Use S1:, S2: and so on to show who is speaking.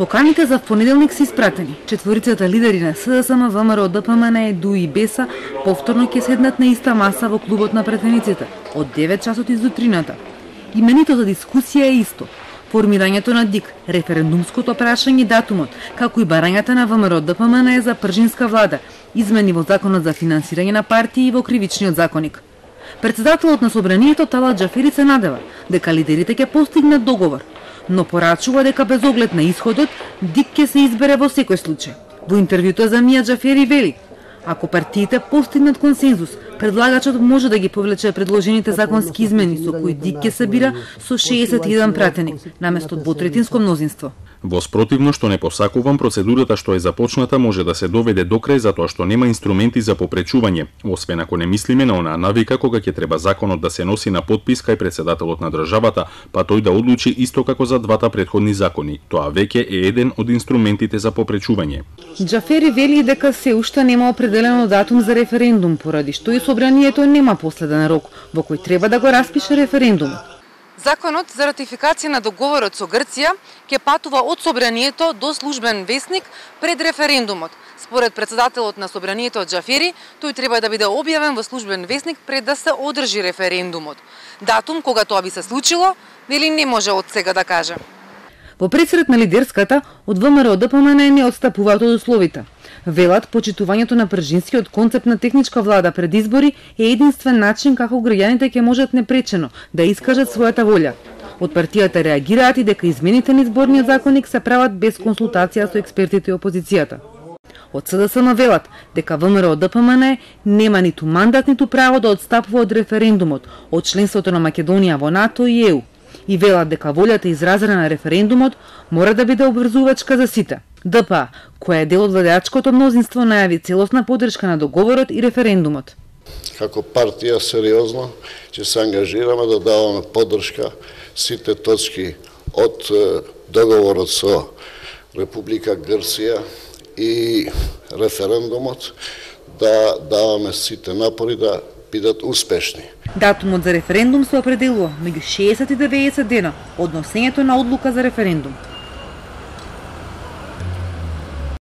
S1: Поканите за понеделник се испратени. Четворицата лидери на СДСМ, ВМРО, ДПМН, ДУ и БЕСА повторно ќе седнат на иста маса во клубот на претениците од 9 часот изутрината. Именито за дискусија е исто. Формирањето на ДИК, референдумското прашање, датумот, како и барањата на ВМРО ДПМН за пржинска влада, измени во законот за финансирање на партии и во кривичниот законник. Председателот на собранието Талат Џафери се надева дека лидерите ќе постигнат договор, но порачува дека без оглед на исходот, ДИК ќе се избере во секој случај. Во интервјуто за Мија Џафери вели: ако партиите постигнат консензус, предлагачот може да ги повлече предложените законски измени со кои ДИК ќе се бира со 61 пратеник, наместо двотретинско мнозинство.
S2: Во спротивно што не посакувам, процедурата што е започната може да се доведе до крај затоа што нема инструменти за попречување, освен ако не мислиме на онаа навика кога ќе треба законот да се носи на подпис кај председателот на државата, па тој да одлучи исто како за двата претходни закони. Тоа веќе е еден од инструментите за попречување.
S1: Џафери вели дека се уште нема определено датум за референдум, поради што и собранието нема последен рок во кој треба да го распише референдумот.
S3: Законот за ратификација на договорот со Грција ќе патува од собранието до службен весник пред референдумот. Според председателот на собранието Џафери, тој треба да биде објавен во службен весник пред да се одржи референдумот. Датум кога тоа би се случило, вели не може од сега да каже.
S1: Во пресрет на лидерската, од ВМРО ДПМН не отстапуваат од условите. Велат, почитувањето на пржинскиот концепт на техничка влада пред избори е единствен начин како граѓаните ќе можат непречено да искажат својата волја. Од партијата реагираат и дека измените на изборниот законник се прават без консултација со експертите и опозицијата. Од СДСМ велат дека ВМРО ДПМН нема ниту мандат ниту право да отстапува од референдумот, од членството на Македонија во НАТО и ЕУ. И велат дека волјата изразена на референдумот мора да биде обврзувачка за сите. ДПА, која е дел од владеачкото мнозинство, најави целосна поддршка на договорот и референдумот.
S4: Како партија сериозно ќе се ангажираме да даваме поддршка сите точки од договорот со Република Грција и референдумот, да даваме сите напори да бидат успешни.
S1: Датумот за референдум се определува меѓу 60 и 90 дена од носењето на одлука за референдум.